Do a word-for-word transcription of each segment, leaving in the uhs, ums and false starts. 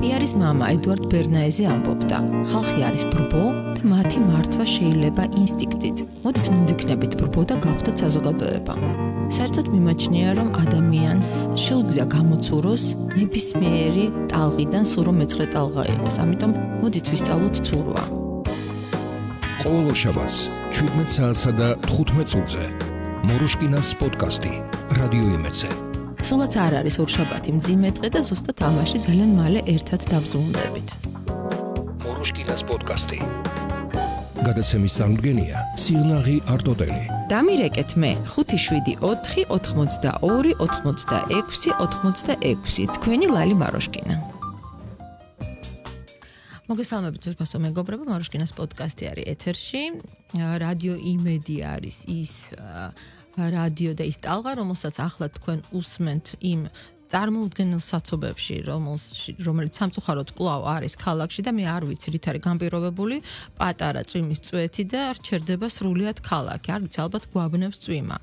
პიერის მამა ედუარდ ბერნაეზე ამბობდა, ხალხი არის ბრბო და მათი მართვა შეიძლება ინსტინქტით. მოდით ნუ ვიქნებით ბრბო და გავხდეთ საზოგადოება. საერთოდ მიმაჩნია, რომ ადამიანს შეუძლია გამოცუროს ნებისმიერი ტალღიდან სულ რომ მეცხრე ტალღა იყოს. ამიტომ მოდით ვისწავლოთ ცურვა. ყოველ შაბათს შვიდმეტ საათსა და თხუთმეტ წუთზე მოროშკინას პოდკასტი რადიო იმედზე. სულაც არ არის ორშაბათი მძიმე დღე და ზუსტად ამაში ძალიან მალე ერთად დავზრუნდებით. მოროშკინას პოდკასტი. გადაცემის წარმოდგენია სიღნაღი არტოდელი. დამირეკეთ მე ხუთი შვიდი ოთხი ოთხმოცდაორი ოთხმოცდაექვსი ოთხმოცდაექვსი თქვენი ლალი მაროშკინა. მოგესალმებით ძვირფასო მეგობრებო, მაროშკინას პოდკასტი არის ეთერში. რადიო იმედი არის ის რადიო და ის ტალღა, რომელსაც ახლა თქვენ უსმენთ იმ წარმოუდგენელ საცობებში, რომელიც სამწუხაროდ კვლავ არის ქალაქში და მე არ ვიცი რით არის განპირობებული, პატარა წვიმის წვეთი და რჩერდება სრულიად ქალაქი. არ ვიცი, ალბათ გვაბნევს წვიმა.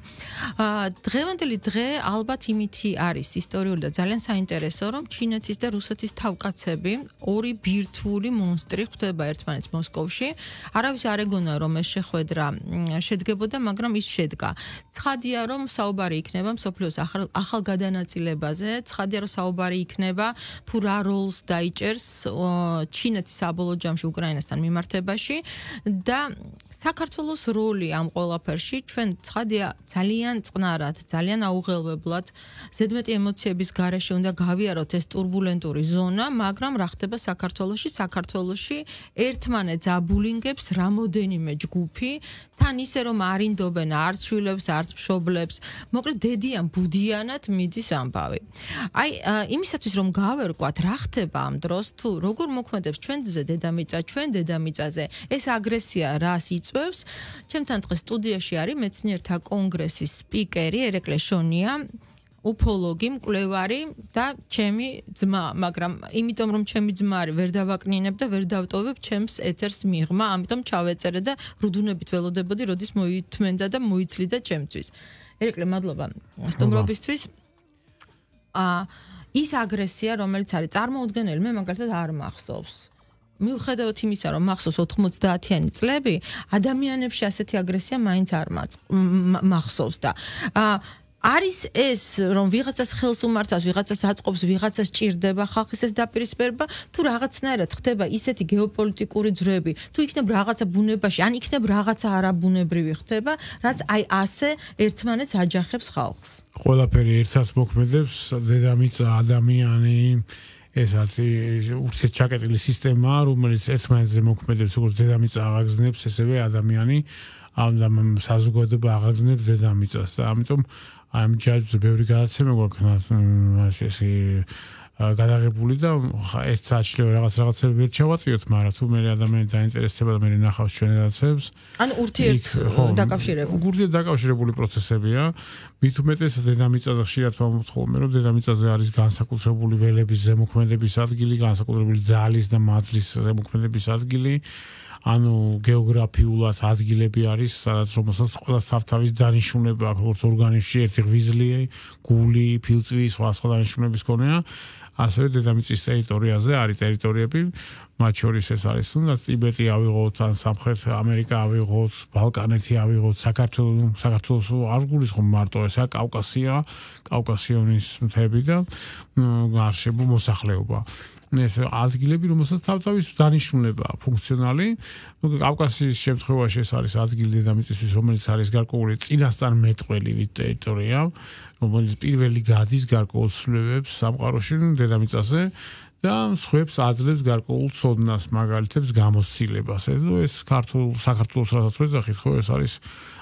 დღევანდელი დღე ალბათ იმითი არის ისტორიული და ძალიან საინტერესო, რომ ჩინეთის და რუსეთის თავკაცები ორი ბირთვული მონსტრი ხვდება ერთმანეთს მოსკოვში. არავის არ ეგონა, რომ ეს შეხვედრა შედგებოდა, მაგრამ ის შედგა. ცხადია, რომ საუბარი იქნება მსოფლიოს ახალ გადანაწილებაზე. ცხადია, რომ საუბარი იქნება თუ რა როლს დაიჭერს ჩინეთის საბოლოო ჯამში უკრაინასთან მიმართებაში და საქართველოს როლი ამ ყველაფერში. ჩვენ ცხადია ძალიან წყნარად, ძალიან აუღელვებლად, ზედმეტი ემოციების გარეშე უნდა გავიაროთ ეს турბულენტური ზონა, მაგრამ რა ხდება საქართველოში? საქართველოში ერთმანეთს აბულინგებს რამოდენიმე ჯგუფი, თან ისე რომ არინდობენ არც შვილებს, არც მშობლებს. მოკლედ დედიან ბუდიანად მიდის ამბავი. აი, იმისათვის რომ გავერკვათ რა ხდება ამ დროს, თუ როგორ მოქმედებს ჩვენზე დედამიწა, ჩვენ დედამიწაზე, ეს აგრესია რას იწვევს? ჩემთან დღეს სტუდიაში არის მეცნიერთა კონგრესის სპიკერი ერეკლე შონია, უფოლოგი, მკვლევარი და ჩემი ძმა, მაგრამ იმიტომ რომ ჩემი ძმა არის, ვერ დავაკნინებ და ვერ დავტოვებ ჩემს ეთერს მიღმა, ამიტომ ჩავეწერე და რუდუნებით ველოდებოდი, როდის მოითმენდა და მოიცლიდა ჩემთვის. ერეკლე, მადლობა სტუმრობისთვის. აა ის აგრესია, რომელიც არის წარმოუდგენელი, მე მაგალითად არ მახსოვს. მიუხედავად იმისა, რომ მახსოვს ოთხმოცდაათიანი წლები, ადამიანებში ასეთი აგრესია მაინც არ მახსოვს და აა არის ეს, რომ ვიღაცას ხელს უმართავს, ვიღაცას აწყობს, ვიღაცას ჭირდება ხალხის ეს დაპირისპირება, თუ რაღაცნაირად ხდება ისეთი გეოპოლიტიკური ძვრები, თუ იქნებ რაღაცა ბუნებაში, ან იქნებ რაღაცა არაბუნებრივი ხდება, რაც აი ასე ერთმანეთს აჯახებს ხალხს. ყველაფერი ერთად მოქმედებს, დედამიწა, ადამიანი, ეს არის ურთიერთჩაკეტილი სისტემა, რომელიც ერთმანეთზე მოქმედებს, როგორც დედამიწა აღაგზნებს, ესევე ადამიანი ამ საზოგადოება აღაგზნებს დედამიწას და ამიტომ ამ ჯაჭვზე ბევრი გადაცემა გვაქვს ესე გადაღებული და ერთ საათში რაღაც რაღაცები ვერ ჩავატიოთ, მაგრამ თუ მე ადამიანი დაინტერესდება და მე ნახავს ჩვენ გადაცემებს, ანუ ურთიერთ დაკავშირებული ურთიერთ დაკავშირებული პროცესებია. მით უმეტესად დედამიწაზე ხშირად ვამბობთ ხოლმე, რომ დედამიწაზე არის განსაკუთრებული ველების ზემოქმედების ადგილი, განსაკუთრებული ძალის და მადლის ზემოქმედების ადგილი. ანუ გეოგრაფიულად ადგილები არის, სადაც რომელსაც ყველა თავთავის დანიშნულება აქვს, როგორც ორგანიზმში ერთი ღვიძლი, გული, ფილტვი, სხვა სხვა დანიშნულების გონია. ასევე დედამიწის ტერიტორიაზე არის ტერიტორიები, მათ შორის ეს არის თუნდაც ტიბეტი ავიღოთ, ან სამხრეთ ამერიკა ავიღოთ, ბალკანეთი ავიღოთ, საქართველოს საქართველოს არ გულისხმობ მარტო ესა კავკასია, კავკასიონის მთები და გარშემო მოსახლეობა. ეს ადგილები, რომელსაც თავთავის დანიშნულება ფუნქციონალი. ნუ კავკასიის შემთხვევაში ეს არის ადგილი დედამიწისთვის, რომელიც არის გარკვეული წინასწარმეტყველი ტერიტორია, რომელიც პირველი გადის გარკვეულ ცვლილებებს სამყაროში დედამიწაზე და მსხვერპლს აძლევს გარკვეულ ცოდნას, მაგალითებს გამოცდილებას. ეს ქართულ საქართველოს რასაც ვეძახით, ხო, ეს არის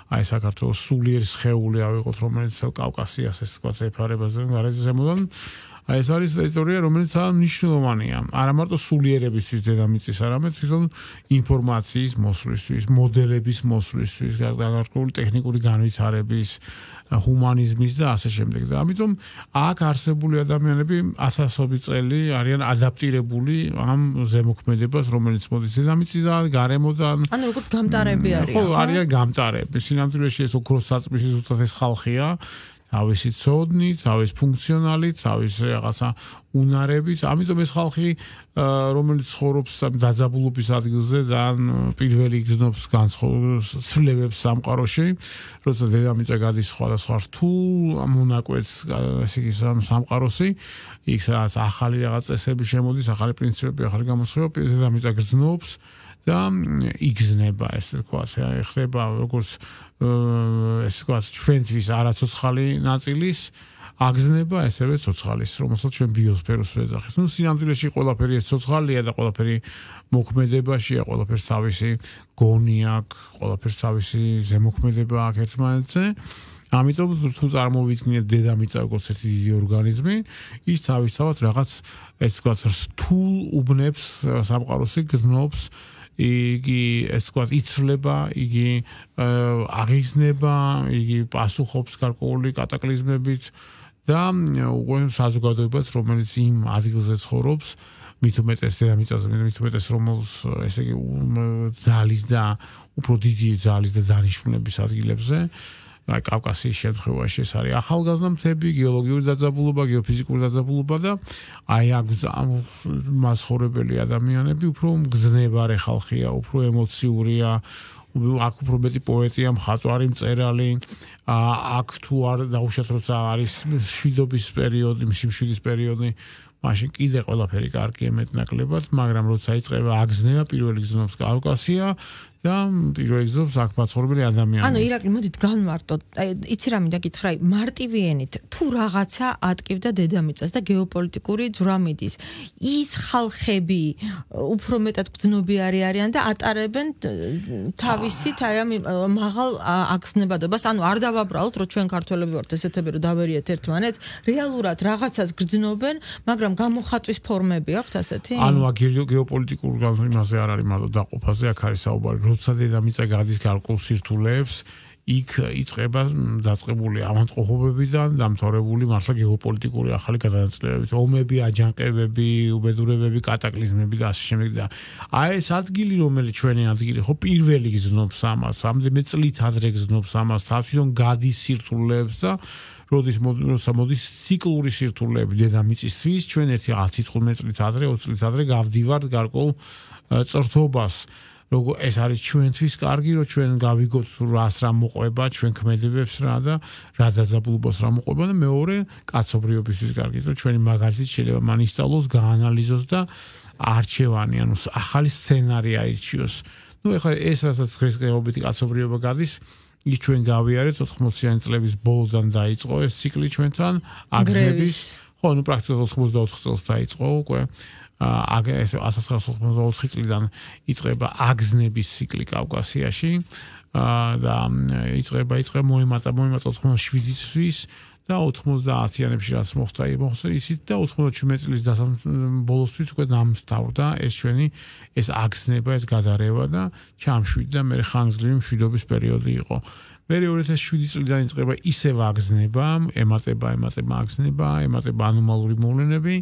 აი საქართველოს სულიერი სხეული ავიღოთ, რომელიც კავკასიას ეს თქვა ეფარებაზე გარეზე ზემოდან. აი ეს არის ტერიტორია, რომელიც მნიშვნელოვანია. არა მარტო სულიერებისთვის დედამიწის, არამედ თვითონ ინფორმაციის მოსვლისთვის, მოდელების მოსვლისთვის, გარკვეული ტექნიკური განვითარების, ჰუმანიზმის და ასე შემდეგ. და ამიტომ აქ არსებული ადამიანები ათასობით წელი არიან ადაპტირებული ამ ზემოქმედებას, რომელიც მოდის დედამიწიდან, გარემოდან. ანუ როგორც გამტარები არიან. ხო, არიან გამტარები. სინამდვილეში ეს ოქროს საწმისი ზუსტად ეს ხალხია. თავისი ცოდნით, თავის ფუნქციონალით, თავის რაღაცა უნარებით. ამიტომ ეს ხალხი, რომელიც ცხოვრობს დაძაბულობის ადგილზე, ძალიან პირველი გზნობს განსხვავებებს სამყაროში, როცა დედამიწა გადის სხვადასხვა რთულ მონაკვეთს, ესე იგი სამყაროსი, იქ სადაც ახალი რაღაც წესები შემოდის, ახალი პრინციპები, ახალი გამოსხივება, დედამიწა გზნობს და იგზნება, ესე ვთქვათ, ხდება როგორც ესე ვთქვათ, ჩვენთვის არაცოცხალი ნაწილის აგზნება, ესევე ცოცხალის, რომელსაც ჩვენ ბიოსფეროს ვეძახით. ნუ სინამდვილეში ყველაფერი ეს ცოცხალია და ყველაფერი მოქმედებაშია, ყველაფერს თავისი გონი აქვს, ყველაფერს თავისი ზემოქმედება აქვს ერთმანეთზე. ამიტომ თუ წარმოვიდგინეთ დედამიწა როგორც ერთი დიდი ორგანიზმი, ის თავისთავად რაღაც ეს ვთქვათ, რთულ უბნებს სამყაროსი გზნობს, იგი ეს ვთქვათ, იცვლება, იგი აღიზნება, იგი პასუხობს გარკვეული კატაკლიზმებით და უკვე საზოგადოებას, რომელიც იმ ადგილზე ცხოვრობს, მით უმეტეს დედამიწაზე, მით უმეტეს რომელს ესე იგი ძალის და უფრო დიდი ძალის და დანიშნულების ადგილებზე, აი კავკასიის შემთხვევაში ეს არის ახალგაზრდა მთები, გეოლოგიური დაძაბულობა, გეოფიზიკური დაძაბულობა და აი აქ მასხოვრებელი ადამიანები უფრო მგზნებარე ხალხია, უფრო ემოციურია, აქ უფრო მეტი პოეტია, მხატვარი, მწერალი, აქ თუ არ დაუშვათ როცა არის მშვიდობის პერიოდი, სიმშვიდის პერიოდი, მაშინ კიდე ყველაფერი კარგია მეტნაკლებად, მაგრამ როცა იწყება აგზნება, პირველი გზნობს კავკასია და პირველი გზნობს აქ მაცხოვრებელი ადამიანები. ანუ ირაკლი, მოდით განმარტოთ. იცი რა მინდა გითხრა, მარტივი ენით, თუ რაღაცა ატკივდა დედამიწას და გეოპოლიტიკური ძვრა მიდის, ის ხალხები უფრო მეტად გრძნობიარი არიან და ატარებენ თავისით აი ამ მაღალ აგზნებადობას. ანუ არ დავაბრალოთ, რომ ჩვენ ქართველები ვართ ესეთები, რომ დავერიეთ ერთმანეთს, რეალურად რაღაცას გრძნობენ, მაგრამ გამოხატვის ფორმები აქვთ ასეთი? ანუ აქ გეოპოლიტიკურ იმაზე არ არის მარტო დაყოფაზე, აქ არის საუბარი, როცა დედამიწა გადის გარკვეულ სირთულეებს, იქ იწყება დაწყებული ავადმყოფობებიდან დამთავრებული მართლა გეოპოლიტიკური ახალი გადანაწილებებით, ომები, აჯანყებები, უბედურებები, კატაკლიზმები და ასე შემდეგ და აი ეს ადგილი, რომელიც ჩვენი ადგილი ხო პირველი გზნობს ამას, რამდენიმე წლით ადრე გზნობს ამას, თვითონ გადის სირთულეებს და როდის მოდის ციკლური სირთულეები დედამიწისთვის, ჩვენ ერთი ათი-თხუთმეტი წლით ადრე, ოცი წლით ადრე გავდივართ გარკვეულ წრთობას. Როგორ ეს არის ჩვენთვის კარგი, რომ ჩვენ გავიგოთ რას რა მოყვება, ჩვენ ქმედებებს რა და რა დაძაბულობას რა მოყვება და მეორე კაცობრიობისთვის კარგი, რომ ჩვენი მაგალითით შეიძლება მან ისწავლოს, გაანალიზოს და არჩევანი, ანუ ახალი სცენარი აირჩიოს. ნუ ეხლა ეს რასაც ღირსეულობითი კაცობრიობა გადის, ის ჩვენ გავიარეთ ოთხმოციანი წლების ბოლოდან დაიწყო ეს ციკლი ჩვენთან, აგზნების, ხო, ნუ პრაქტიკულად ოცდაოთხ წელს დაიწყო უკვე. აგ ეს ათას ცხრაასი ოცდაოთხი წლიდან იწყება აგზნების ციკლი კავკასიაში და იწყება იწყება მოემატა მოემატა ოთხმოცდაშვიდი წლის და ოთხმოცდაათიანებში რაც მოხდა მოხდა ისიც და ოთხმოცდაჩვიდმეტი წლის ბოლოსთვის უკვე დამთავრდა ეს ჩვენი ეს აგზნება ეს გადარევა და ჩამშვიდდა მე ხანგრძლივი მშვიდობის პერიოდი იყო მე ორი ათას შვიდი წლიდან იწყება ისევ აგზნება ემატება ემატება აგზნება ემატება ანომალური მოვლენები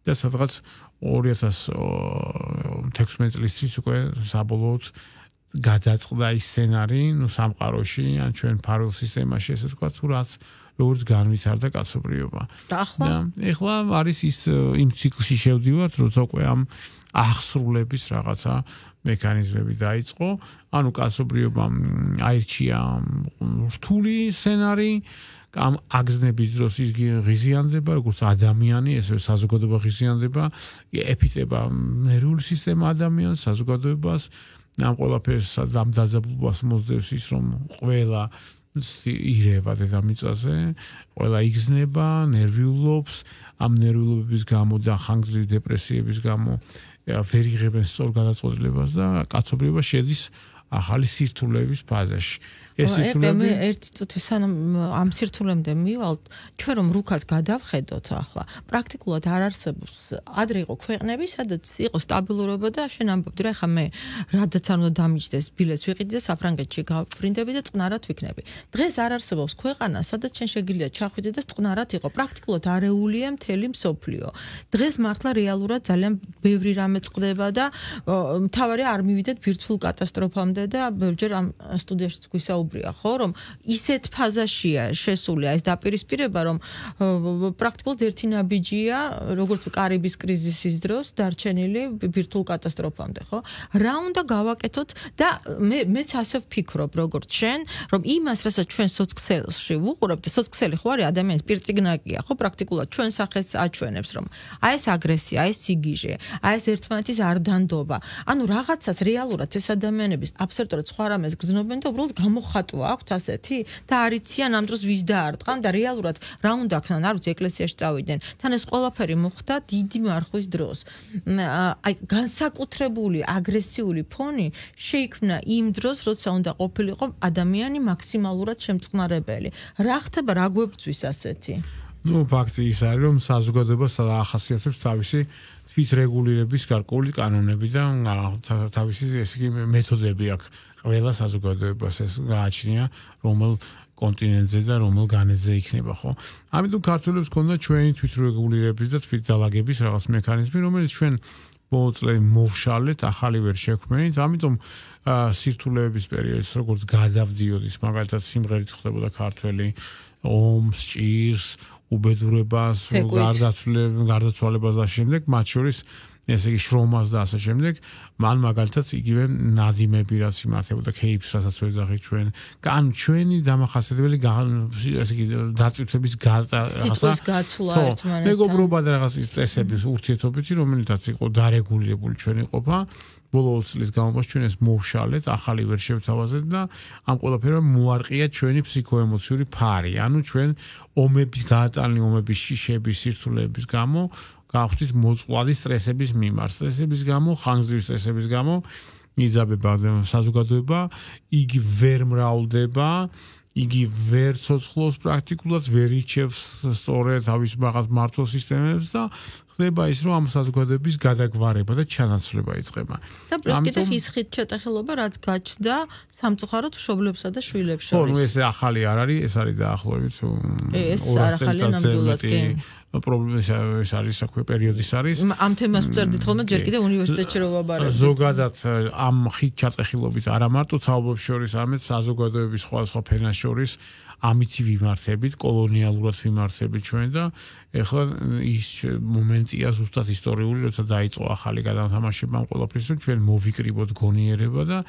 და სადღაც ორი ათას თექვსმეტი წლისთვის უკვე საბოლოოდ გადაწყდა ის სცენარი, ნუ სამყაროში, ან ჩვენ ფარველ სისტემაში, ესე ვთქვათ, თუ რაც როგორც განვითარდა კაცობრიობა. და ახლა? ეხლა არის ის იმ ციკლში შევდივართ, როცა უკვე ამ აღსრულების რაღაცა მექანიზმები დაიწყო, ანუ კაცობრიობამ აირჩია რთული სცენარი, ამ აგზნების დროს ის ღიზიანდება, როგორც ადამიანი, ესე საზოგადოება ღიზიანდება, ეფიტება ნერვული სისტემა ადამიანს, საზოგადოებას, ამ ყველაფერს ამ დაძაბულობას მოსდევს ის, რომ ყველა ირევა დედამიწაზე, ყველა იგზნება, ნერვიულობს, ამ ნერვიულობების გამო და ხანგრძლივი დეპრესიების გამო ვერ იღებენ სწორ გადაწყვეტილებას და კაცობრიობა შედის ახალი სირთულეების ფაზაში. ეს სირთულეები ერთი წუთი სანამ ამ სირთულემდე მივალთ, ჩვენ რომ რუკას გადავხედოთ ახლა, პრაქტიკულად არ არსებობს. ადრე იყო ქვეყნები, სადაც იყო სტაბილურობა და შენ ამბობდი რა, ხა მე რადაც არ უნდა დამიჯდეს, ბილეთს ვიყიდი და საფრანგეთში გავფრინდები და წყნარად ვიქნები. დღეს არ არსებობს ქვეყანა, სადაც შენ შეგიძლია ჩახვიდე და წყნარად იყო. პრაქტიკულად არეულია მთელი მსოფლიო. დღეს მართლა რეალურად ძალიან ბევრი რამე წყდება და მთავარია არ მივიდეთ ბირთვულ კატასტროფამდე და ბევრჯერ ამ სტუდიაში გვისაუბრეთ ჩვეულებრივია, ხო, რომ ისეთ ფაზაშია შესული ეს დაპირისპირება, რომ პრაქტიკულად ერთი ნაბიჯია, როგორც კარიბის კრიზისის დროს დარჩენილი ბირთვულ კატასტროფამდე, ხო? რა უნდა გავაკეთოთ და მე მეც ასე ვფიქრობ, როგორც შენ, რომ იმას, რასაც ჩვენ სოციქსელში ვუყურებთ, სოციქსელი ხო არის ადამიანის პირწიგნაკია, ხო, პრაქტიკულად ჩვენ სახეს აჩვენებს, რომ აი ეს აგრესია, აი ეს სიგიჟე, აი ეს ერთმანეთის არდანდობა. ანუ რაღაცას რეალურად ეს ადამიანების აბსოლუტურად სხვა რამეს გრძნობენ და უბრალოდ გამოხატვა აქვთ ასეთი და არიციან ამ დროს ვის დაარტყან და რეალურად რა უნდა ქნან, არ ვიცი, ეკლესიაში წავიდნენ. თან ეს ყველაფერი მოხდა დიდი მარხვის დროს. აი განსაკუთრებული აგრესიული ფონი შეიქმნა იმ დროს, როცა უნდა ყოფილიყო ადამიანი მაქსიმალურად შემწყნარებელი. რა ხდება, რა გვებწვის ასეთი? ნუ ფაქტი ის არის, რომ საზოგადოებას ახასიათებს თავისი თვითრეგულირების გარკვეული კანონები და თავისი ესე იგი მეთოდები აქვს. ყველა საზოგადოებას ეს გააჩნია, რომელ კონტინენტზე და რომელ განედზე იქნება, ხო? ამიტომ ქართველებს ქონდა ჩვენი თვითრეგულირების და თვითდალაგების რაღაც მექანიზმი, რომელიც ჩვენ ბოლო წლებში მოვშალეთ, ახალი ვერ შექმნით. ამიტომ სირთულეების პერიოდს როგორც გადავდიოდის, მაგალითად სიმღერით ხდებოდა ქართველი ომს, ჭირს, უბედურებას, გარდაცვალებას და შემდეგ, მათ შორის ესე იგი შრომას და ასე შემდეგ, მან მაგალითად იგივე ნადიმები რაც იმართებოდა ქეიფს, რასაც ვეძახით ჩვენ, ან ჩვენი დამახასიათებელი ესე იგი დაწვირთების რაღაცა გაცვლა ერთმანეთთან. მეგობრობა და რაღაც წესების ურთიერთობითი, რომელთაც იყო დარეგულირებული ჩვენი ყოფა. ბოლო წლის განმავლობაში ჩვენ ეს მოვშალეთ, ახალი ვერ შევთავაზეთ და ამ ყველაფერმა მოარყია ჩვენი ფსიქოემოციური ფარი. ანუ ჩვენ ომების გაატანილი ომების შიშების, სირთულეების გამო გავხდით მოწყვლადი სტრესების მიმართ. სტრესების გამო, ხანგრძლივი სტრესების გამო იძაბება საზოგადოება, იგი ვერ მრავლდება, იგი ვერ ცოცხლობს პრაქტიკულად, ვერ იჩევს სწორედ თავის რაღაც მართულ სისტემებს და ხდება ის, რომ ამ საზოგადოების გადაგვარება და ჩანაცვლება იწყება. და პლუს კიდე ის ხით ჩატეხილობა, რაც გაჩნდა სამწუხაროდ მშობლებსა და შვილებს შორის. ხო, ნუ ეს ახალი არ არის, ეს არის დაახლოებით ეს არ ახალია ნამდვილად კი. პრობლემა ეს არის საქმე პერიოდის არის. ამ თემას ვწერდით ხოლმე ჯერ კიდე უნივერსიტეტში რო ვაბარებდით. ზოგადად ამ ხით ჩატეხილობით არა მარტო თაობებს შორის, არამედ საზოგადოების სხვადასხვა ფენას შორის ამითი ვიმართებით, კოლონიალურად ვიმართებით ჩვენ და ეხლა ის მომენტია ზუსტად ისტორიული, როცა დაიწყო ახალი გადათამაშება ამ ყველაფრის, რომ ჩვენ მოვიკრიბოთ გონიერება და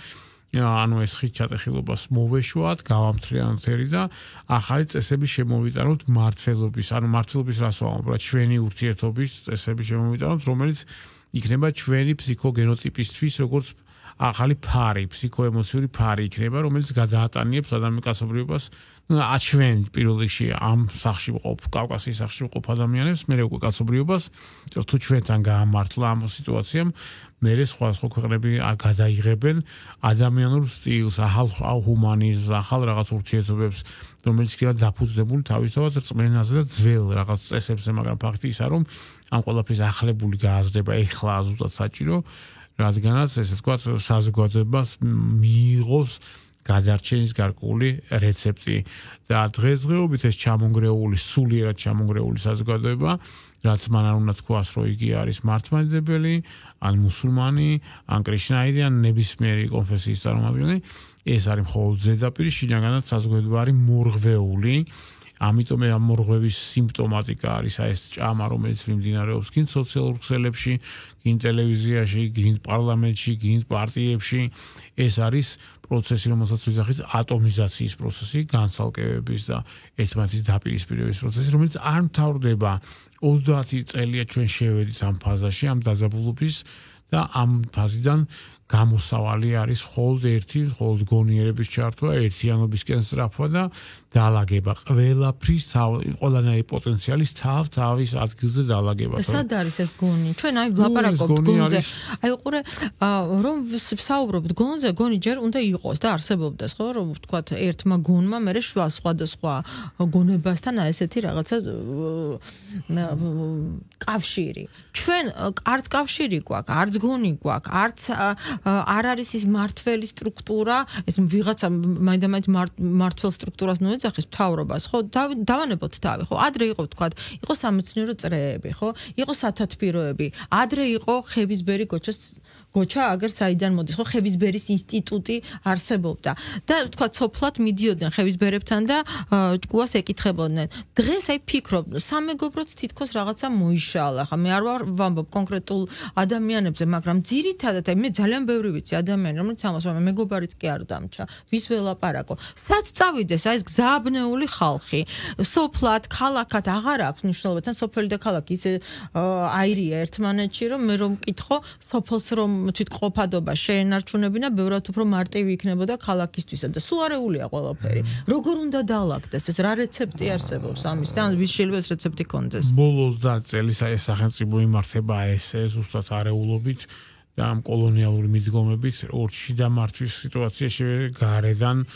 ანუ ეს ხით ჩატეხილობას მოვეშვათ, გავამთრიალოთ და ახალი წესების შემოვიტანოთ მართლობის, ანუ მართლობის რას ვამბობ, რა ჩვენი ურთიერთობის წესების შემოვიტანოთ, რომელიც იქნება ჩვენი ფსიქოგენოტიპისთვის, როგორც ახალი ფარი, ფსიქოემოციური ფარი იქნება, რომელიც გადაატანიებს ადამიანის კაცობრიობას, აჩვენ პირველ რიგში ამ სახში ვყოფ, კავკასიის სახში ვყოფ ადამიანებს, მე უკვე კაცობრიობას, თუ ჩვენთან გაამართლა ამ სიტუაციამ, მე სხვა სხვა ქვეყნები გადაიღებენ ადამიანურ სტილს, ახალ ჰუმანიზმს, ახალ რაღაც ურთიერთობებს, რომელიც კი დაფუძნებული თავისთავად რწმენაზე და ძველ რაღაც წესებზე, მაგრამ ფაქტი ისაა, რომ ამ ყველაფრის ახლებული გააზრდება ეხლა ზუსტად საჭირო, რადგანაც ესე ვთქვათ, საზოგადოებას მიიღოს გადარჩენის გარკვეული რეცეპტი და დღესდღეობით ეს ჩამონგრეული, სულიერად ჩამონგრეული საზოგადოება, რაც მან არ უნდა თქვას, რომ იგი არის მართლმადიდებელი, ან მუსულმანი, ან კრიშნაიტი, ან ნებისმიერი კონფესიის წარმომადგენელი, ეს არის მხოლოდ ზედაპირი, შინაგანად საზოგადოება არის მორღვეული. ამიტომ ამ მორღვევის სიმპტომატიკა არის აი ეს ჭამა, რომელიც მიმდინარეობს გინ სოციალურ ქსელებში, გინ ტელევიზიაში, გინ პარლამენტში, გინ პარტიებში. ეს არის პროცესი, რომელსაც ვიზახით ატომიზაციის პროცესი, განცალკევების და ერთმანეთის დაპირისპირების პროცესი, რომელიც არ მთავრდება ოცდაათი წელია ჩვენ შევედით ამ ფაზაში, ამ დაძაბულობის და ამ ფაზიდან გამოსავალი არის მხოლოდ ერთი, მხოლოდ გონიერების ჩართვა, ერთიანობისკენ სწრაფვა და დაალაგება. ყველაფრის ყველანაირი პოტენციალის თავ თავის ადგილზე დაალაგება. სად არის ეს გონი? ჩვენ აი ვლაპარაკობთ გონზე. აი უყურე, რომ ვსაუბრობთ გონზე, გონი ჯერ უნდა იყოს და არსებობდეს, ხო, რომ ვთქვათ, ერთმა გონმა მერე შვა სხვადასხვა გონებასთან ესეთი რაღაცა კავშირი. ჩვენ არც კავშირი გვაქვს, არც გონი გვაქვს, არც არ არის ის მართველი სტრუქტურა, ეს ვიღაცა მაინდამაინც მართველ სტრუქტურას ნოეძახის მთავრობას, ხო? დავანებოთ თავი, ხო? ადრე იყო ვთქვათ, იყო სამეცნიერო წრეები, ხო? იყო სათათბიროები, ადრე იყო ხებისბერი გოჩას გოჩა აგერ საიდან მოდის ხო ხევისბერის ინსტიტუტი არსებობდა და თქვა სოფლად მიდიოდნენ ხევისბერებთან და ჭკუას ეკითხებოდნენ დღეს აი ფიქრობ სამეგობროც თითქოს რაღაცა მოიშალა ხა მე არ ვამბობ კონკრეტულ ადამიანებზე მაგრამ ძირითადად აი მე ძალიან ბევრი ვიცი ადამიანი რომელიც ამას მე მეგობარიც კი არ დამჩა ვის ველაპარაკო სად წავიდეს აი ეს გზაბნეული ხალხი სოფლად ქალაქად აღარ აქვს მნიშვნელობა თან სოფელი და ქალაქი ისე აირია ერთმანეთში რომ მე რომ მკითხო სოფელს რომ თვითყოფადობა შეენარჩუნებინა ბევრად უფრო მარტივი იქნებოდა ქალაქისთვისა და სულ არეულია ყველაფერი როგორ უნდა დაალაგდეს ეს რა რეცეპტი არსებობს ამის და ვის შეიძლება ეს რეცეპტი კონდეს ბოლო ოცდაათ წელი ეს სახელმწიფო იმართება ეს ზუსტად არეულობით და ამ კოლონიალური მიდგომებით ორ შიდა მართვის სიტუაციაში გარედან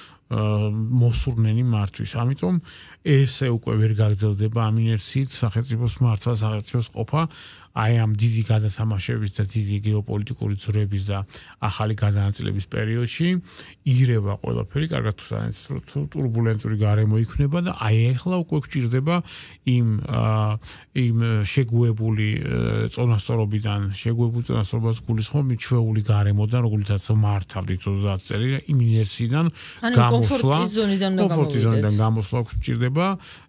მოსურნენი მართვის ამიტომ ესე უკვე ვერ გაგრძელდება ამ ინერციით სახელმწიფოს მართვა სახელმწიფოს ყოფა აი ამ დიდი გადათამაშების და დიდი გეოპოლიტიკური ძვრების და ახალი გადანაწილების პერიოდში ირება ყველაფერი კარგად თუ ტურბულენტური გარემო იქნება და აი ახლა უკვე გვჭირდება იმ იმ შეგუებული წონასწორობიდან შეგუებული წონასწორობას გულისხმობ მიჩვეული გარემოდან როგორიცაც მართავდით ოცდაათ წელი იმ ინერციიდან გამოსვლა კომფორტის ზონიდან გამოსვლა გვჭირდება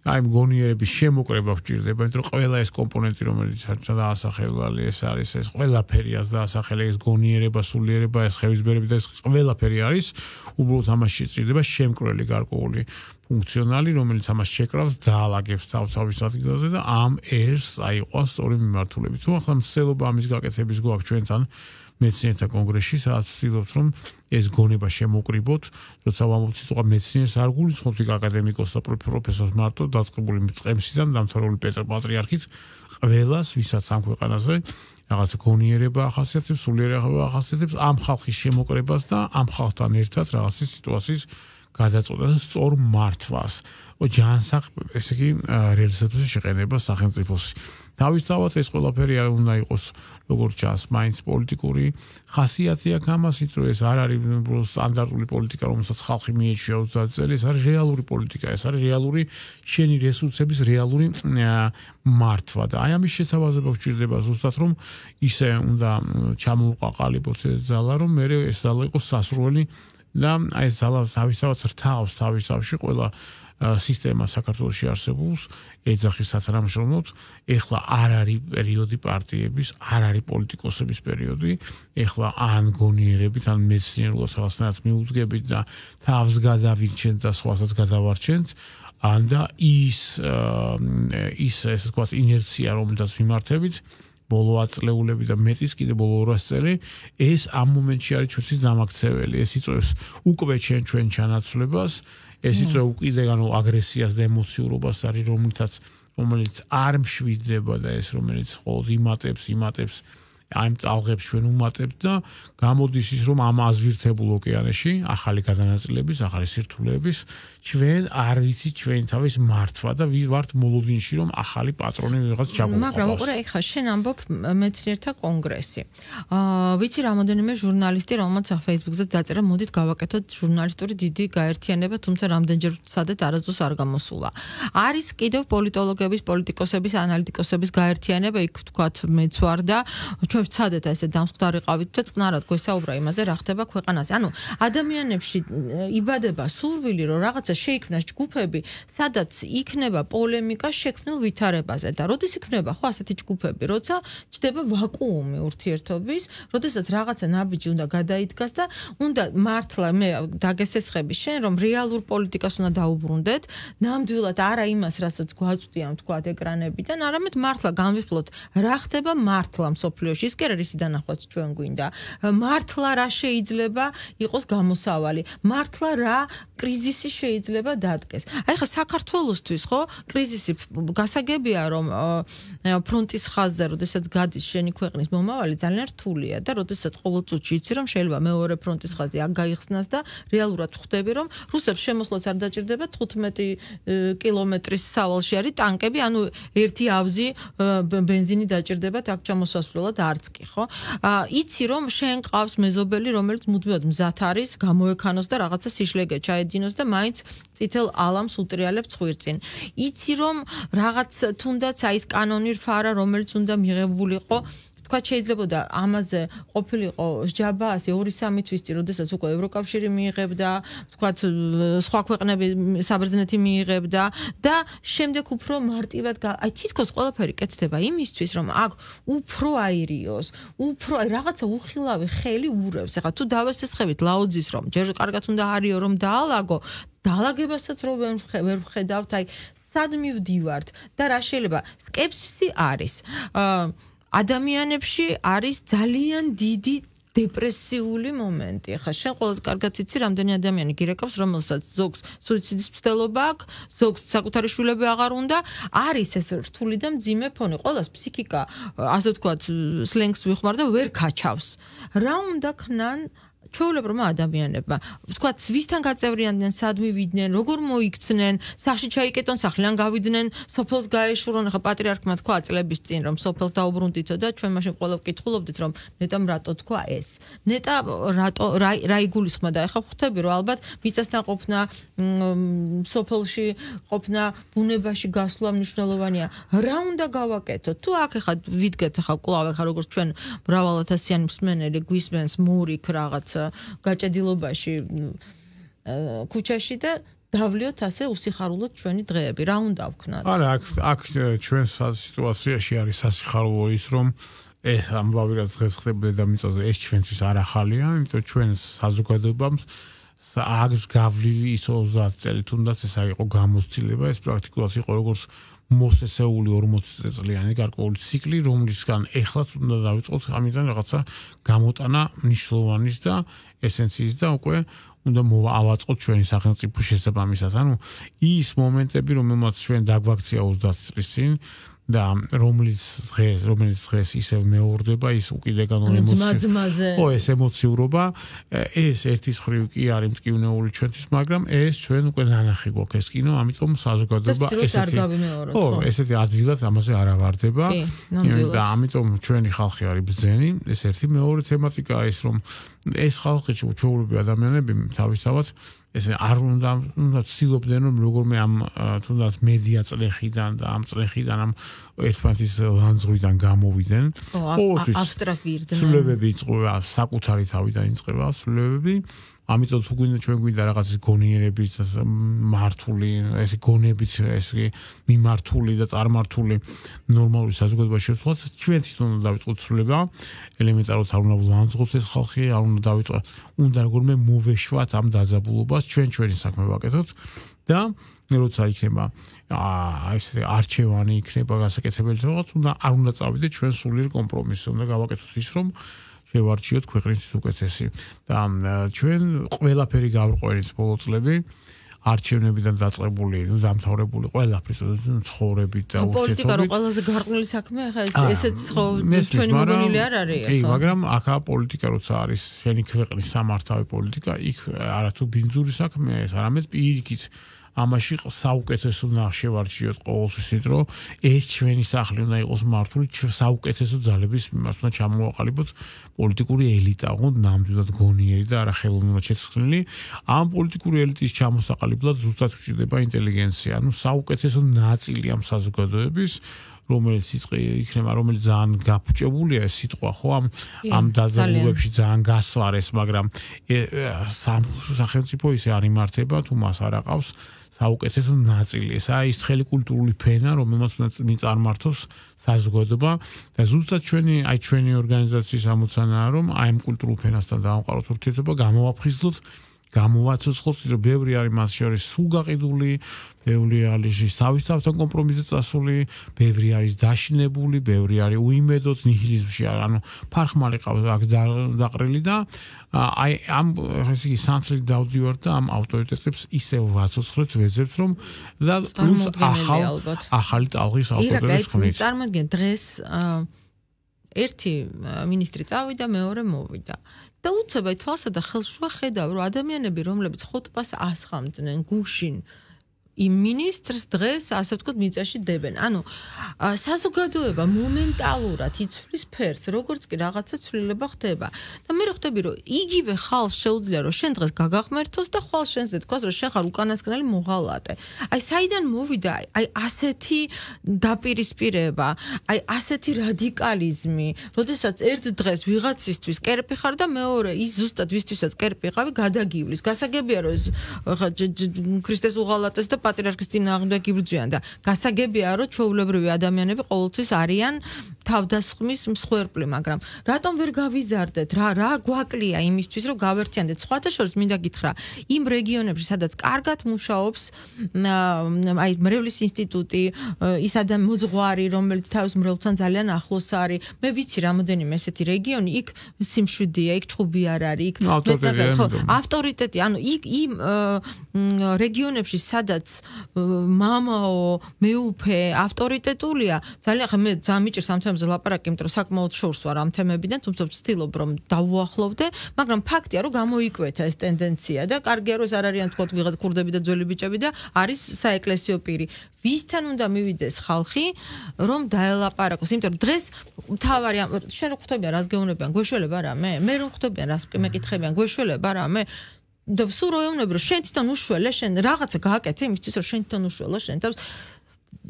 აი მგონიერების შემოკრება გვჭირდება იმიტომ რომ ყველა ეს კომპონენტი რომელიც არჩა ასახელვალი ეს არის ეს ყველაფერიას და ასახელი ეს გონიერება სულიერება ეს ხევისბერები და ეს ყველაფერი არის უბრალოდ ამას შეჭირდება შემკრელი გარკვეული ფუნქციონალი რომელიც ამას შეკრავს დაალაგებს თავთავის ადგილზე და ამ ერს აიყვანს სწორი მიმართულებით თუ ახლა მცდელობა ამის გაკეთების გვაქვს ჩვენთან მეცნიერთა კონგრესში სადაც ვცდილობთ რომ ეს გონება შემოკრიბოთ როცა ვამბობთ სიტყვა მეცნიერს არ გულისხმობთ იქ აკადემიკოსს და პროფესორს მარტო დაწყებული მწყემსიდან დამთავრებული პეტრ პატრიარქით ყველას ვისაც ამ ქვეყანაზე რაღაც გონიერება ახასიათებს სულიერება ახასიათებს ამ ხალხის შემოკრებას და ამ ხალხთან ერთად რაღაცის სიტუაციის გადაწყვეტას სწორ მართვას ჯანსაღ ესე იგი რეალიზაციაზე შეყენება სახელმწიფოს თავისთავად ეს ყველაფერი არ უნდა იყოს როგორც ჩანს მაინც პოლიტიკური ხასიათი აქვს ამასით რომ ეს არ არის სტანდარტული პოლიტიკა რომელსაც ხალხი მიეჩვია ოცდაათ წელი ეს არის რეალური პოლიტიკა ეს არის რეალური შენი რესურსების რეალური მართვა და აი ამის შეთავაზება გვჭირდება ზუსტად რომ ისე უნდა ჩამოვყაყალებოთ ეს ძალა რომ მე ეს ძალა იყოს სასურველი და აი ეს ძალა თავისთავად რთავს თავისთავში ყველა სისტემა საქართველოში არსებობს ეძახის სათანამშრომლოდ ეხლა არ არის პერიოდი პარტიების არ არის პოლიტიკოსების პერიოდი ეხლა ან გონიერებით ან მეცნიერულად რაღაცნაირად მიუძგებით და თავს გადავირჩენთ და სხვასაც გადავარჩენთ ან და ის ის ესე ვთქვათ ინერცია რომელსაც მიმართებით ბოლო აწლეულები და მეტის კიდე ბოლო ორასი წელი ეს ამ მომენტში არის ჩვენთვის დამაქცეველი ეს იწვევს უკვე ჩვენ ჩვენ ჩანაცვლებას ეს იწვევს კიდე ანუ აგრესიას და ემოციურობას არის რომელიცაც რომელიც არ მშვიდდება და ეს რომელიც ყოველ იმატებს იმატებს აი ამ წალღებს ჩვენ უმატებთ და გამოდის ის რომ ამ აზვირთებულ ოკეანეში ახალი გადანაწილების ახალი სირთულეების ჩვენ არ ვიცით ჩვენ თავის მართვა და ვართ მოლოდინში რომ ახალი პატრონი ვიღაც ჩამოვყავს მაგრამ უყურე ეხლა შენ ამბობ მეცნიერთა კონგრესი აა ვიცი რამოდენიმე ჟურნალისტი რომელმაც Facebook-ზე დაწერა მოდით გავაკეთოთ ჟურნალისტური დიდი გაერთიანება თუმცა რამდენჯერ ვცადეთ არასდროს არ გამოსულა არის კიდევ პოლიტოლოგების პოლიტიკოსების ანალიტიკოსების გაერთიანება იქ ვთქვათ მეც ვარ და ჩვენ ვცადეთ ესე დამსხდარიყავით და წყნარად გვესაუბრა იმაზე რა ხდება ქვეყანაზე. ანუ ადამიანებში იბადება სურვილი რომ რაღაცა შეიქმნას ჯგუფები, სადაც იქნება პოლემიკა შექმნილ ვითარებაზე და როდის იქნება ხო ასეთი ჯგუფები, როცა ჩდება ვაკუუმი ურთიერთობის, როდესაც რაღაცა ნაბიჯი უნდა გადაიდგას და უნდა მართლა მე დაგესესხები შენ რომ რეალურ პოლიტიკას უნდა დაუბრუნდეთ, ნამდვილად არა იმას, რასაც გვაწვდიან თქვა ეკრანებიდან, არამედ მართლა განვიხილოთ რა ხდება მართლა მსოფლიოში. ის კი არის დანახვაც ჩვენ გვინდა. მართლა რა შეიძლება იყოს გამოსავალი. მართლა რა კრიზისი შეიძლება დადგეს. აი ხა საქართველოსთვის ხო კრიზისი გასაგებია რომ ფრონტის ხაზზე როდესაც გადის შენი ქვეყნის მომავალი ძალიან რთულია და როდესაც ყოველ წუთში იცი რომ შეიძლება მეორე ფრონტის ხაზი აქ გაიხსნას და რეალურად ხვდები რომ რუსებს შემოსვლაც არ დაჭირდება თხუთმეტი კილომეტრის სავალში არის ტანკები ანუ ერთი ავზი ბენზინი დაჭირდებათ აქ ჩამოსასვლელად არც კი ხო იცი რომ შენ ყავს მეზობელი რომელიც მუდმივად მზად არის გამოექანოს და რაღაცა სიშლეგე ჩაედინოს და მაინც წითელ ალამს უტრიალებს ხვირწინ იცი რომ რაღაც თუნდაც აი ეს კანონი რფარა რომელიც უნდა მიღებულიყო თქვა შეიძლებოდა ამაზე ყოფილიყო სჯაბა ასე ორი სამი თვის წინ, როდესაც უკვე ევროკავშირი მიიღებდა, თქვა სხვა ქვეყნები საბერძნეთი მიიღებდა და შემდეგ უფრო მარტივად აი თითქოს ყველაფერი კეთდება იმისთვის, რომ აქ უფრო აირიოს, უფრო რაღაცა უხილავი ხელი ურევს. ეხლა თუ დავესესხებით ლაუძის რომ ჯერ კარგად უნდა არიო რომ დაალაგო, დაალაგებასაც რო ვერ ვხედავთ, აი სად მივდივართ და რა შეიძლება სკეპსისი არის. ადამიანებში არის ძალიან დიდი დეპრესიული მომენტი. ხა შენ ყველაზე კარგად იცი, რამდენი ადამიანი გირეკავს, რომელსაც ზოგს სუიციდის მცდელობა აქვს, ზოგს საკუთარი შვილები აღარ უნდა, არის ეს რთული და მძიმე ფონი. ყველას ფსიქიკა, ასე ვთქვათ, სლენგს ვიხმარ და ვერ ქაჩავს. რა უნდა ქნან ჩვეულებრივმა ადამიანებმა, ვთქვათ, ვისთან გაწევრიანდნენ, სად მივიდნენ, როგორ მოიქცნენ, სახში ჩაიკეტონ, სახლიდან გავიდნენ, სოფელს გაეშურონ. ხა პატრიარქმა თქვა წლების წინ, რომ სოფელს დაუბრუნდითო და ჩვენ მაშინ ყველა ვკითხულობდით, რომ ნეტამ რატო თქვა ეს. ნეტა რატო რა იგულისხმა და ეხა ხვდები, რომ ალბათ მიწასთან ყოფნა, სოფელში ყოფნა, ბუნებაში გასვლა მნიშვნელოვანია. რა უნდა გავაკეთოთ? თუ აქ ეხა ვიდგეთ ეხა კვლავ ეხა როგორც ჩვენ მრავალათასიანი მსმენელი გვისმენს მურიქ რაღაც გაჭედილობაში ქუჩაში და დავლიოთ ასე უსიხარულოდ ჩვენი დღეები. რა უნდა ვქნათ? არა, აქ აქ ჩვენ სიტუაციაში არის სასიხარულო ის, რომ ეს ამბავი რაც დღეს ხდება დედამიწაზე, ეს ჩვენთვის არ ახალია, იმიტომ ჩვენ საზოგადოებამ აქვს გავლილი ის ოცდაათ წელი, თუნდაც ეს არ იყო გამოცდილება, ეს პრაქტიკულად იყო როგორც მოსესეული ორმოცი წლიანი გარკვეული ციკლი, რომლისგან ეხლაც უნდა დავიწყოთ ამიდან რაღაცა გამოტანა მნიშვნელოვანის და ესენციის და უკვე უნდა მოვავაწყოთ ჩვენი სახელმწიფო შესაბამისად. ანუ ის მომენტები, რომელმაც ჩვენ დაგვაქცია ოცდაათ წლის წინ და რომლის დღეს, რომელიც დღეს ისევ მეორდება, ის უკიდეგან ემოციურობა. ო, ეს ემოციურობა, ეს ერთის ხრივ კი არის მტკივნეული ჩვენთვის, მაგრამ ეს ჩვენ უკვე ნანახი გვაქვს ეს კინო, ამიტომ საზოგადოება ესეთი ო, ესეთი ადვილად ამაზე არ ავარდება და ამიტომ ჩვენი ხალხი არის ბრძენი. ეს ერთი. მეორე თემატიკაა ის, რომ ეს ხალხი ჩვეულებრივი ადამიანები თავისთავად ეს არ უნდა უნდა ცდილობდნენ რომ როგორმე ამ თუნდაც მედია წლეხიდან და ამ წლეხიდან ამ ერთმანეთის ლანძღვიდან გამოვიდნენ. აბსტრაქტირდნენ. სულებები იწყება საკუთარი თავიდან იწყება სულებები. ამიტომ თუ გვინდა ჩვენ გვინდა რაღაც გონიერებით მართული, ეს გონებით ეს მიმართული და წარმართული ნორმალური საზოგადოება შევცვლათ, ჩვენ თვითონ უნდა დავიწყოთ სულება, ელემენტარულად არ უნდა ვლანძღოთ ეს ხალხი, არ უნდა დავიწყოთ, უნდა როგორმე მოვეშვათ ამ დაძაბულობას, ჩვენ ჩვენი საქმე ვაკეთოთ და როცა იქნება აა ეს არჩევანი იქნება გასაკეთებელი რაღაც, უნდა არ უნდა წავიდეთ ჩვენ სულიერ კომპრომისზე, უნდა გავაკეთოთ ის, რომ შევარჩიოთ ქვეყნის უკეთესი და ჩვენ ყველაფერი გავყურეთ ბოლო წლები არჩევნებიდან დაწყებული, ნუ დამთავრებული ყველაფრის ცხოვრებით და ურთიერთობით. პოლიტიკა რო ყველაზე გარყვნილი საქმეა, ხა ესეც ხო ჩვენი მოგონილი არ არის ახლა. კი, მაგრამ ახლა პოლიტიკა როცა არის შენი ქვეყნის სამართავი პოლიტიკა, იქ არათუ ბინძური საქმეა ეს, არამედ პირიქით ამაში საუკეთესო ნახშევარჩიოთ ყოველთვის ის, რომ ეს ჩვენი სახლი უნდა იყოს მართული საუკეთესო ძალების მიმართ, უნდა ჩამოვაყალიბოთ პოლიტიკური ელიტა, ოღონდ ნამდვილად გონიერი და არა ხელოვნურად შეცვლილი. ამ პოლიტიკური ელიტის ჩამოსაყალიბებლად ზუსტად გვჭირდება ინტელიგენცია, ანუ საუკეთესო ნაწილი ამ საზოგადოების, რომელიც იქნება, რომელიც ძალიან გაფუჭებულია ეს სიტყვა, ხო, ამ ამ დაძაბულებში ძალიან გასვარეს, მაგრამ სახელმწიფო ისე არ იმართება, თუ მას არ აყავს საუკეთესო ნაწილი. ესაა ის ცხელი კულტურული ფენა, რომელმაც უნდა წარმართოს საზოგადოება და ზუსტად ჩვენი, აი ჩვენი ორგანიზაციის ამოცანაა, რომ აი ამ კულტურულ ფენასთან დავამყაროთ ურთიერთობა, გამოვაფხიზლოთ, გამოვაცოცხლოთ, რომ ბევრი არის მას შორის სულ გაყიდული, ბევრი არის თავისთავად კომპრომისზე წასული, ბევრი არის დაშინებული, ბევრი არის უიმედოდ ნიჰილიზმში, ანუ ფარხმალი ყავს აქ დაყრილი და აი ამ ესე იგი სანთლით დავდივართ და ამ ავტორიტეტებს ისევ ვაცოცხლეთ, ვეძებთ, რომ და პლუს ახალ ახალი ტალღის ავტორიტეტებს ხმით. წარმოგიდგენ დღეს ერთი მინისტრი წავიდა, მეორე მოვიდა. და უცებ აი თვალსა და ხელს შუა ხედავ, რომ ადამიანები, რომლებიც ხოტბას ასხამდნენ, გუშინ იმ მინისტრს დღეს ასე ვთქვათ მიწაში დებენ. ანუ საზოგადოება მომენტალურად იცვლის ფერს, როგორც კი რაღაცა ცვლილება ხდება. და მე ხვდები რომ იგივე ხალხს შეუძლია რომ შენ დღეს გაგახმერთოს და ხვალ შენზე თქვას რომ შენ ხარ უკანასკნელი მოღალატე. აი საიდან მოვიდა აი ასეთი დაპირისპირება, აი ასეთი რადიკალიზმი, როდესაც ერთ დღეს ვიღაცისთვის კერპი ხარ და მეორე ის ზუსტად ვისთვისაც კერპი ყავი გადაგივლის. გასაგებია რომ ეს ქრისტეს უღალატეს და პატრიარქის წინააღმდეგ იბრძვიან და გასაგებია რომ ჩვეულებრივი ადამიანები ყოველთვის არიან თავდასხმის მსხვერპლი, მაგრამ რატომ ვერ გავიზარდეთ რა რა გვაკლია იმისთვის რომ გავერთიანდეთ სხვათა შორის მინდა გითხრა იმ რეგიონებში სადაც კარგად მუშაობს აი მრევლის ინსტიტუტი ის ადამ მოძღვარი რომელიც თავის მრევლთან ძალიან ახლოს არის მე ვიცი რამოდენიმე ესეთი რეგიონი იქ სიმშვიდეა იქ ჭუბი არ არის იქ ავტორიტეტი ანუ იქ იმ რეგიონებში სადაც მამაო მეუფე ავტორიტეტულია ძალიან ხა მე ძამიჭერს ამ თემაზე ლაპარაკი იმიტომ რომ საკმაოდ შორს ვარ ამ თემებიდან თუმცა ვცდილობ რომ დავუახლოვდე მაგრამ ფაქტია რომ გამოიკვეთა ეს ტენდენცია და კარგია რომ ეს არ არიან თქო ვიღაც ქურდები და ძველი ბიჭები და არის საეკლესიო პირი ვისთან უნდა მივიდეს ხალხი რომ დაელაპარაკოს იმიტომ რომ დღეს თავარი შენ რო ხვდებიან რას გეუბნებიან გვეშველება რა მე მე რომ ხვდებიან რას მეკითხებიან გვეშველება რა მე და სულ რო ეუბნები რომ შენ თვითონ უშველე შენ რაღაცა გააკეთე იმისთვის რომ შენ თვითონ უშველო შენ თავს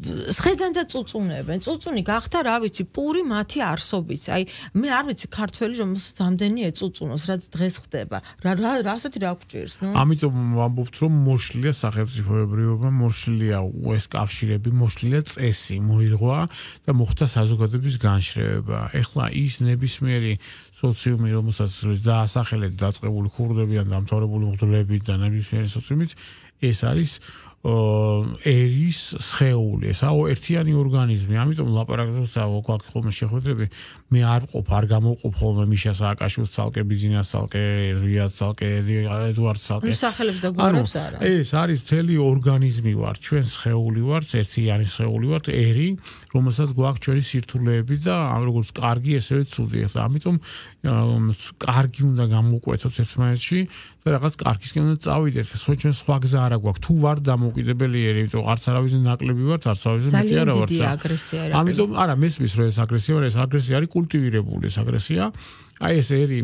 სხედან და წუწუნებენ. წუწუნი გახდა, რა ვიცი, პური მათი არსობის. აი, მე არ ვიცი ქართველი რომელსაც ამდენი ეწუწუნოს, რაც დღეს ხდება. რა რა რასეთი რა გვჭირს, ნუ? ამიტომ ვამბობთ, რომ მოშლილია სახელმწიფოებრიობა, მოშლილია ეს კავშირები, მოშლილია წესი, მოირღვა და მოხდა საზოგადოების განშრევება. ეხლა ის ნებისმიერი სოციუმი, რომელსაც დაასახელეთ დაწყებული ქურდები ან დამთავრებული მღვდლები და ნებისმიერი სოციუმიც, ეს არის ერის სხეული, ესაო ერთიანი ორგანიზმი. ამიტომ ლაპარაკობს გვაქვს ხოლმე შეხვედრები, მე არ ვყოფ, არ გამოვყოფ ხოლმე მიშა სააკაშვილს ცალკე, ბიზნეს ცალკე, რიას ცალკე, ედუარდ ცალკე. მსახელებს და გვარებს არა. ეს არის მთელი ორგანიზმი ვარ, ჩვენ სხეული ვართ, ერთიანი სხეული ვართ, ერი, რომელსაც გვაქვს ჩვენი სირთულეები და როგორც კარგი, ესევე ცუდი. ახლა ამიტომ კარგი უნდა გამოვკვეთოთ ერთმანეთში და რაღაც კარგისკენ უნდა წავიდეთ. ჩვენ სხვა გზა არ აქვს. თუ ვარ დამოუკიდებელი ერი, იმიტომ არც არავის ნაკლები ვართ, არც არავის მეტი არა ვართ. ძალიან დიდი აგრესია რა. ამიტომ არა, მესმის რომ ეს აგრესია, ეს აგრესია არის კულტივირებული ეს აგრესია. აი ეს ერი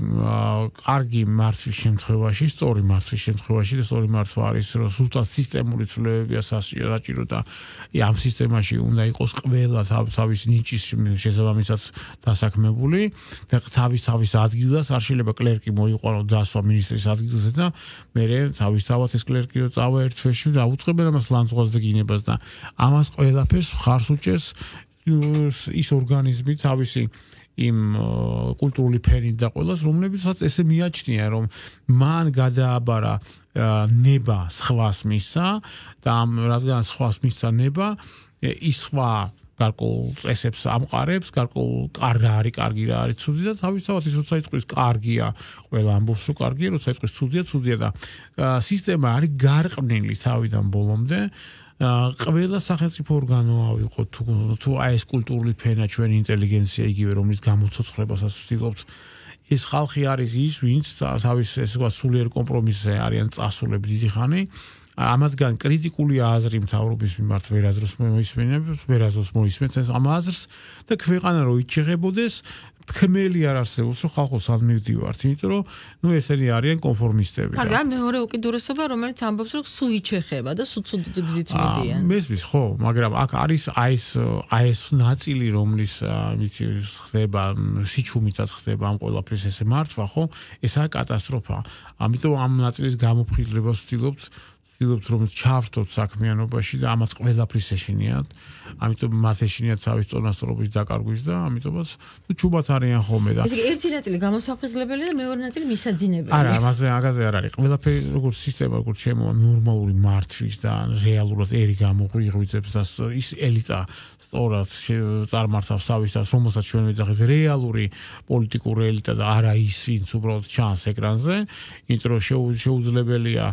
კარგი მართვის შემთხვევაში, სწორი მართვის შემთხვევაში და სწორი მართვა არის, რომ ზუსტად სისტემური ცვლილებებია საჭირო და ამ სისტემაში უნდა იყოს ყველა თავის ნიჭის შესაბამისად დასაქმებული და თავის თავის ადგილას არ შეიძლება კლერკი მოიყვანოს დასვა მინისტრის ადგილზე და მე თავისთავად ეს კლერკი რო წავა ერთ თვეში და აუწყებენ ამას ლანძღვას და გინებას და ამას ყველაფერს ხარს უჭერს ის ორგანიზმი თავისი იმ კულტურული ფენით და ყველას რომლებიცაც ესე მიაჩნია რომ მან გადააბარა ნება სხვას მისცა და ამ რადგან სხვას მისცა ნება ის სხვა გარკვეულ წესებს ამყარებს, გარკვეულ რა არის კარგი, რა არის ცუდი და თავისთავად ის როცა იწყვის კარგია, ყველა ამბობს რომ კარგია, როცა იწყვის ცუდია, ცუდია და სისტემა არის გარყვნილი თავიდან ბოლომდე. ყველა სახელმწიფო ორგანო ავიღოთ თუ თუ აი ეს კულტურული ფენა ჩვენი ინტელიგენცია იგივე რომლის გამოცოცხლებასაც ვცდილობთ ეს ხალხი არის ის ვინც თავის ესე ვთქვათ სულიერ კომპრომისზე არიან წასულები დიდი ხანი ამათგან კრიტიკული აზრი მთავრობის მიმართ ვერაზროს მოისმენებს ვერაზროს მოისმენს ამ აზრს და ქვეყანა რო იჩეხებოდეს ხმელი არ არსებობს რომ ხალხოს არ მივდივართ იმიტომ რომ ნუ ესენი არიან კონფორმისტები რა მეორე უკიდურესობა რომელიც ამბობს რომ სულ იჩეხება და სულ ცუდ გზით მიდიან მესმის ხო მაგრამ აქ არის აი ეს აი ეს ნაწილი რომლის ვიცი ხდება სიჩუმითაც ხდება ამ ყველაფრის ესე მართვა ხო ესაა კატასტროფა ამიტომ ამ ნაწილის გამოფხიზლებას ვცდილობთ ვცდილობთ რომ ჩავრთოთ საქმიანობაში და ამას ყველაფრის ეშინიათ ამიტომ მათ ეშინიათ თავის წონასწორობის დაკარგვის და ამიტომაც ნუ ჩუბად არიან ხოლმე და ესე იგი ერთი ნაწილი გამოსაფხიზლებელი და მეორე ნაწილი მისაძინებელი არა მასე აგაზე არ არის ყველაფერი როგორც სისტემა როგორც შემო ნორმალური მართვის და რეალურად ერი გამოღვიძებს და ის ელიტა სწორად წარმართავს თავის თავს რომელსაც ჩვენ ვეძახით რეალური პოლიტიკური ელიტა და არა ის ვინც უბრალოდ ჩანს ეკრანზე იმიტომ რომ შეუძლებელია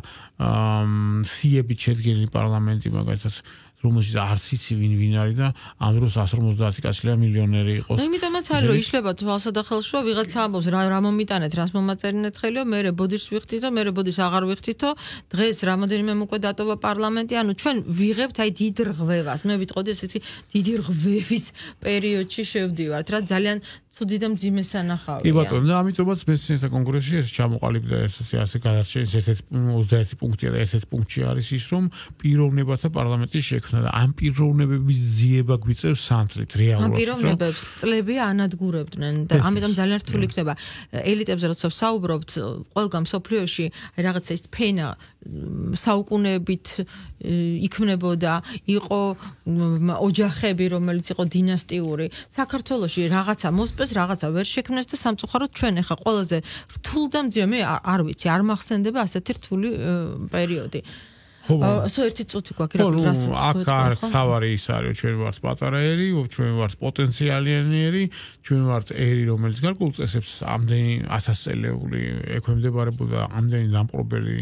სიებით შედგენილი პარლამენტი მაგალითად რომელშიც არც იცი ვინ ვინ არის და ამ დროს εκατს ორმოცდაათი კაცი მილიონერი იყოს. ნუ იმიტომაც არის რომ იშლება თვალსა და ხელში რომ ვიღაცა ამბობს რა რა მომიტანეთ რას მომაწერინეთ ხელიო მე ბოდიშს ვიხდით და მე ბოდიშს აღარ ვიხდითო დღეს რამოდენიმე უკვე დატოვა პარლამენტი ანუ ჩვენ ვიღებთ აი დიდ რღვევას მე ვიტყოდი ესეთი დიდი რღვევის პერიოდში შევდივართ რა ძალიან თუდი და მძიმე სანახავია. კი ბატონო, და ამიტომაც მეცნიერთა კონგრესში ეს ჩამოყალიბდა ესეთი ასე გადარჩენის ერთ-ერთი ოცდაერთი პუნქტია და ერთ-ერთი პუნქტი არის ის რომ პიროვნებათა პარლამენტის შექმნა და ამ პიროვნებების ძიება გვიწევს სანთლით რეალურად. ამ პიროვნებებს წლები ანადგურებდნენ და ამიტომ ძალიან რთული იქნება ელიტებზე როცა ვსაუბრობთ ყველგან მსოფლიოში რაღაცა ის ფენა საუკუნეებით იქმნებოდა იყო ოჯახები რომელიც იყო დინასტიური საქართველოში რაღაცა მოსპეს რაღაცა ვერ შექმნეს და სამწუხაროდ ჩვენ ახლა ყველაზე რთულ და მძიმე მე არ ვიცი არ მახსენდება ასეთი რთული პერიოდი ასო ერთი წუთი გვაქვს რა აქ არ თავარი ის არის ჩვენ ვართ პატარა ერი ჩვენ ვართ პოტენციალიანი ერი ჩვენ ვართ ერი რომელიც გარკვეულ წესებს ამდენი ათასწლეული ექვემდებარებოდა ამდენი დამპყრობელი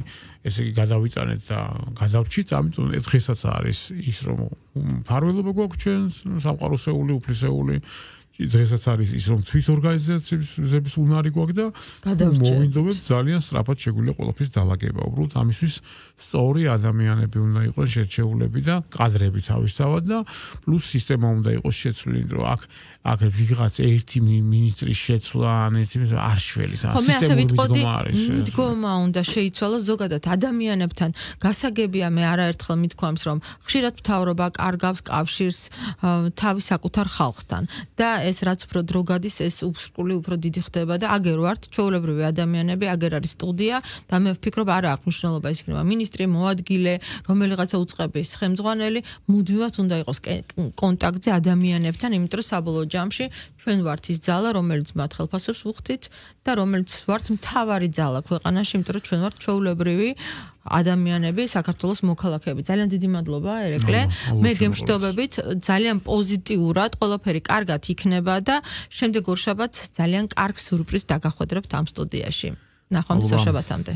ესე იგი გადავიტანეთ და გადავრჩით ამიტომ დღესაც არის ის რომ ფარველობა გვაქვს ჩვენ სამყაროსეული უფლისეული დღესაც არის ის რომ თვით ორგანიზაციების უნარი გვაქვს და მოვინდობთ ძალიან სწრაფად შეგვიძლია ყველაფრის დალაგება უბრალოდ ამისთვის სწორი ადამიანები უნდა იყოს შერჩეულები და კადრები თავისთავად და პლუს სისტემა უნდა იყოს შეცვლილი რომ აქ აქ ვიღაც ერთი მინისტრის შეცვლა ან ერთი არ შველის ან სისტემური მიდგომა უნდა შეიცვალოს ზოგადად ადამიანებთან გასაგებია მე არაერთხელ მithქვამს რომ ხშირად მთავრობა კარგავს კავშირს თავის საკუთარ ხალხთან და ეს რაც უფრო დრო გადის ეს უსრკული უფრო დიდი ხდება და აგერ ვართ ჩვეულებრივი ადამიანები აგერ არის სტუდია და მე ვფიქრობ არა აქვს მნიშვნელობა ის იქნება მინისტრი მოადგილე რომელიღაცა უწყების ხელმძღვანელი მუდმივად უნდა იყოს კონტაქტზე ადამიანებთან იმიტომ რომ საბოლოო ჯამში ჩვენ ვართ ის ძალა რომელიც მათ ხელფასებს ვუხდით და რომელიც ვართ მთავარი ძალა ქვეყანაში იმიტომ რომ ჩვენ ვართ ჩვეულებრივი ადამიანები საქართველოს მოქალაქეები ძალიან დიდი მადლობა ერეკლე მე გემშვიდობებით ძალიან პოზიტიურად ყველაფერი კარგად იქნება და შემდეგ ორშაბათს ძალიან კარგ სიურპრიზს დაგახვედრებთ ამ სტუდიაში ნახვამდის ორშაბათამდე